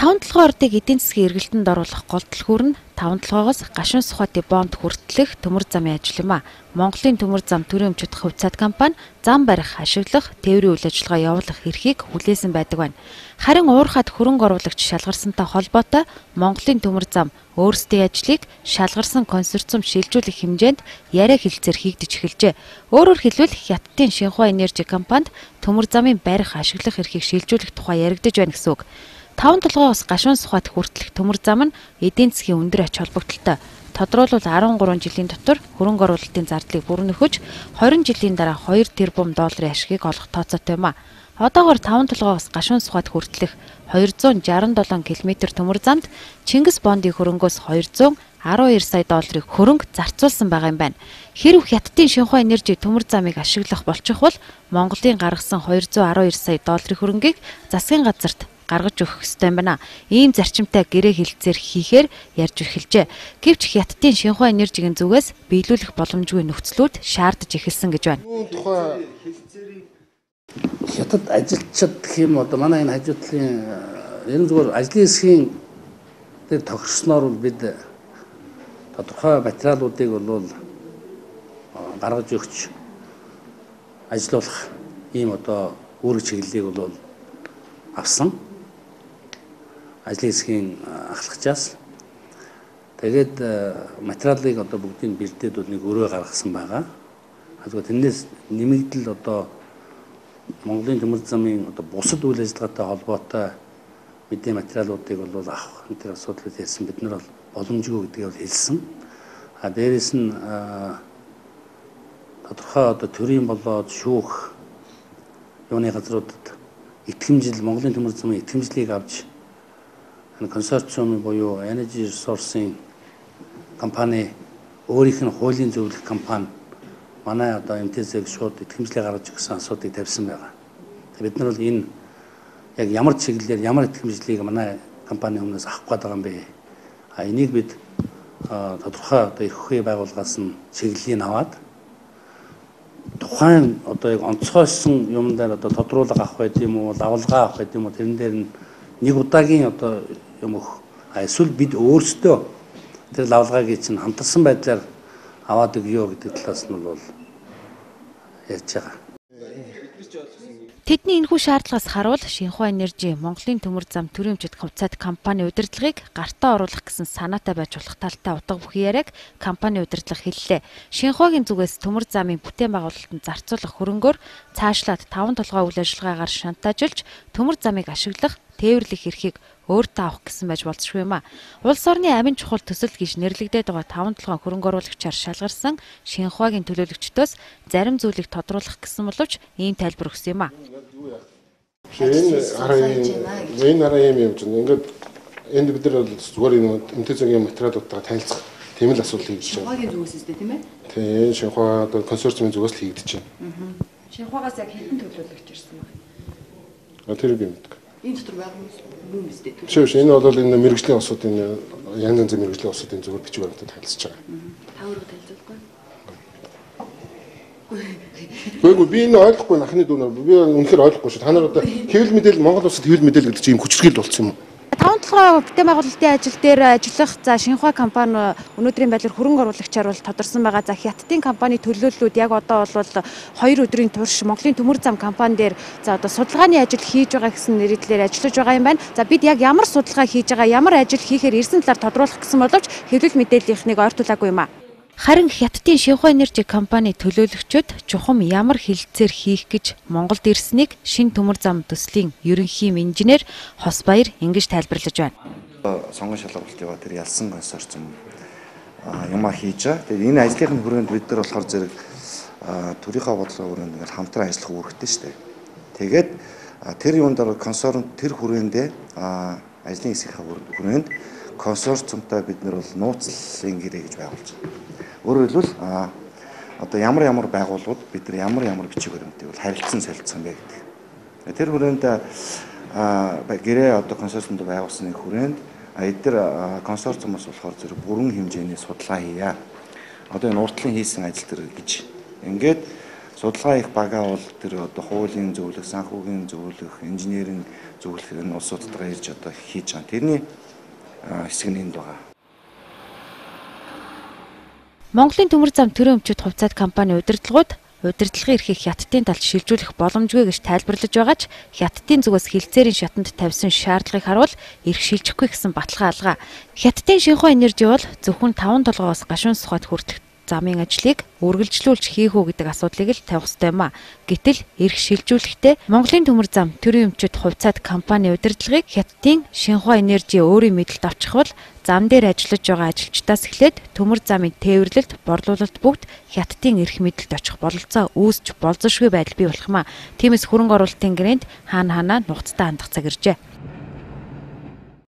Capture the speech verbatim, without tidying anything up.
таван толгойрдыг эдийн засгийн эргэлтэнд оруулах гол түлхүүр нь таван толгойгоос гашуун сухатын бонд хүртэлх төмөр замын ажил юм а. Монголын төмөр зам төрийн өмчөд хувьцаат компани зам барих, ашиглах, тээврийн үйл ажиллагаа явуулах эрхийг хүлээсэн байдаг байна. Харин уурхайд хөрөнгө оруулагч шалгарсантай холбоотой Монголын төмөр зам өөрсдийн ажлыг шалгарсан консорциум шилжүүлэх хэмжээнд яриа хэлцээр хийгдэж эхэлжээ. Өөрөөр хэлбэл Хятадын Шинхуа энержи компанид төмөр замын барих, ашиглах эрхийг шилжүүлэх тухай яригдж байна гэсэн үг. таван толгойгоос гашуун сухад хүртэлх төмөр зам нь эдийн засгийн өндөр ач холбогдолтой. Тодорхойлбол арван гурван жилийн дотор хөрөнгө оруулалтын зардлыг бүрэн нөхөж хоёр жилийн дараа хоёр тэрбум долларын ашгийг олох тооцоотой юм а. Одоогоор таван толгойгоос гашуун сухад хүртэлх хоёр зуун жаран долоон километр төмөр замд Чингис бондын хөрөнгөөс хоёр зуун арван хоёр сая долларыг хөрөнгө зарцуулсан байгаа юм байна. Хэрв Хятадын Шинхуа энержи төмөр замыг ашиглах болчих бол Монголын гаргасан хоёр зуун арван хоёр сая долларын хөрөнгийг засгийн газарт гаргаж өгөх ёстой юм байна. Ийм зарчимтай гэрээ хэлцээр хийхээр ярьж эхэлжээ. Гэвч Хятадын Шинхуа энержигийн зүгээс биелүүлэх боломжгүй нөхцлүүд шаардж эхэлсэн гэж байна. Тухай Хятад ажилчид гэх юм одоо манай энэ хажуудлын ерөн зүгээр ажлын хэсгийн дээр тогтсноор бол бид тодорхой материалуудыг бол гаргаж өгч ажиллах ийм одоо үүрэг чиглэлийг бол авсан. Ажлын хэсгийн ахлагчаас тэгээд материалыг одоо бүгдийг бэлдээд бол нэг өрөө гаргасан байгаа. Тэгвэл тэрнээс нэмэгдэл одоо Монголын төмөр замын одоо бусад үйл ажиллагаатай холбоотой мэдээ материалуудыг бол авах энэ асуудлыг ярьсан бид нар бол боломжгүй гэдгийг бол хэлсэн. А дээрэс нь тодорхой одоо төрийн болоод шүүх юуны газруудад итгэмжил Монголын төмөр замын итгэмжлийг авч консорциумын буюу Energy Resource-ийн компани өөрийнх нь хуулийн зөвлөх компани манай одоо эм тэ зэ-г шууд итгэмжлээ гаргаж өгсөн асуудыг тавьсан байгаа. Бид нар бол энэ яг ямар чиглэлээр ямар итгэмжлийг манай компани өмнөөс авах гээд байгаа юм бэ? А энийг бид тодорхой одоо их хөвгөө байгууллагаас нь чиглэлийг аваад тухайн одоо яг онцгойсон юм дээр одоо тодруулга авах байд юм уу, лавлгаа авах байд юм уу тэрэн дээр нь нэг удаагийн одоо юм өх эсвэл бид өөрсдөө тэр лавлгааг чинь хамтарсан байдлаар аваад өгөө гэдэг талаас нь бол ярьж байгаа. Тэдний энэхүү шаардлагаас харуул Шинхуа энержи Монголын төмөр зам төрийн өмчөд хувьцаат компани удирдлагыг гартаа оруулах гэсэн санаатай байж болох талтай утга бүхий яриаг компани удирдлага хэллээ. Шинхуагийн зүгээс төмөр замын бүтээн байгуулалтанд зарцуулах хөрөнгөөр цаашлаад таван толгой үйл ажиллагаагаар шантажуулж төмөр замыг ашиглах, тээвэрлэх эрхийг өөртөө авах гэсэн байж болзошгүй юм а. Улс орны амин чухал төсөл гэж нэрлэгдээд байгаа таван толгой хөрөнгө оруулагчаар шалгарсан Шинхуагийн төлөөлөгчдөөс зарим зүйлийг тодруулах гэсэн боловч ийм тайлбар өгсөн юм а. Энэ хараа энэ хараа юм юм чинь ингээд энд бид нар зүгээр энэ эм тэ зэ-гийн материалуудтайгаа танилцах тийм л асуудал хийж байгаа. Шинхуагийн зүгээс үстэй тийм ээ? Тийм, Шинхуа одоо консорциумын зүгээс л хийгдэж байна. Шинхуагаас яг хэдэн төлөөлөгч ирсэн байна? А тэр би мэддэг. Энэ дотор байгаа юм үстэй. Шиш энэ бол энэ мэрэгжлийн усуудын янз янзын мэрэгжлийн усуудын зүгээр бичиг баримтад танилцж байгаа. Та өөрөө танилцуулахгүй. Гэхдээ би энэ ойлгохгүй нахны дүүнээр би үнэхээр ойлгохгүй шүү. Та нар одоо хэвлэл мэдээлэл Монгол улсад хэвлэл мэдээлэл гэдэг чинь юм хүчрхийлэл болсон юм уу? таван толгой бүтээн байгуулалтын ажил дээр ажиллах за Шинхуа компани өнөөдрийн байдлаар хөрөнгө оруулагчаар бол тодорсон байгаа. За Хятадын компани төлөөллүүд яг одоо бол хоёр өдрийн турш Монголын төмөр зам компани дээр за одоо судалгааны ажил хийж байгаа гэсэн нэрээр ажиллаж байгаа юм байна. За бид яг ямар судалгаа хийж байгаа, ямар ажил хийхээр ирсэн талаар тодруулах гэсэн боловч хэвлэл мэдээллийнхнийг ойртуулаагүй юм а. Харин Хятадын Шинхуа энержи компани төлөөлөгчид чухам ямар хэлэлцээр хийх гэж Монголд ирснийг шин төмөр зам төслийн ерөнхий инженер Хосбаяр ингэж тайлбарлаж байна. Сонгон шалгуулалт яваа тэр ялсан консорциум юмаа хийж байгаа. Тэгээд энэ ажлын хүрээнд бид нар болохоор зэрэг төрийнхөө бодлого хүрээнд ингээл хамтран ажиллах үүрэгтэй шүү дээ. Тэгээд тэр юунд дор консорциум тэр хүрээндээ ажлын хэсгийнхээ хүрээнд консорциумтай бид нар бол нууцлалын гэрээ гэж байгуулж байгаа. Өөрөөр хэлбэл одоо ямар ямар байгууллагууд бид нар ямар ямар бичиг баримтыг бол харилцан солилцсон бэ гэдэг. Тэр хүрээнд гэрээ одоо консорциумд байгуулсны хүрээнд эдгээр консорциумоос болохоор зэрэг бүрэн хэмжээний судалгаа хийя. Одоо энэ уртлын хийсэн ажил төр гэж ингээд судалгаа их багаа бол тэр одоо хуулийн зөвлөх, санхүүгийн зөвлөх, инженерийн зөвлөх энэ улсуудтайгаа ирж одоо хийж байгаа. Тэрний хэсэг нь энд байгаа. Монголын төмөр зам төрийн өмчөд хувьцаат компани удирдлагууд удирдлагын эрхийг хятадын талд шилжүүлэх боломжгүй гэж тайлбарлаж байгаа ч хятадын зүгээс хилцээрийн шатанд тавьсан шаардлагыг харуул эрх шилжихгүй гэсэн баталгаа алгаа. Хятадын Шинхua Энержи бол зөвхөн таван толгоос гашуун сухад хүртэх замын ажлыг үргэлжлүүлж хийх үү гэдэг асуудлыг л тавих ёстой юм а. Гэтэл эрх шилжүүлэхдээ Монголын төмөр зам төрийн өмчөд хувьцаат компани удирдлагыг хятадын Шинхua Энержи өөрийн мэдэлд авчих бол зам дээр ажиллаж байгаа ажилчдаас эхлээд төмөр замын тээвэрлэлд, борлуулалт бүгд хятадын эрх мэдэлд очих бололцоо үүсч болзошгүй байдал бий болох юм а. Тиймээс хөрөнгө оруулалтын гэрээнд хаана хаана нухацтай хандах цаг иржээ.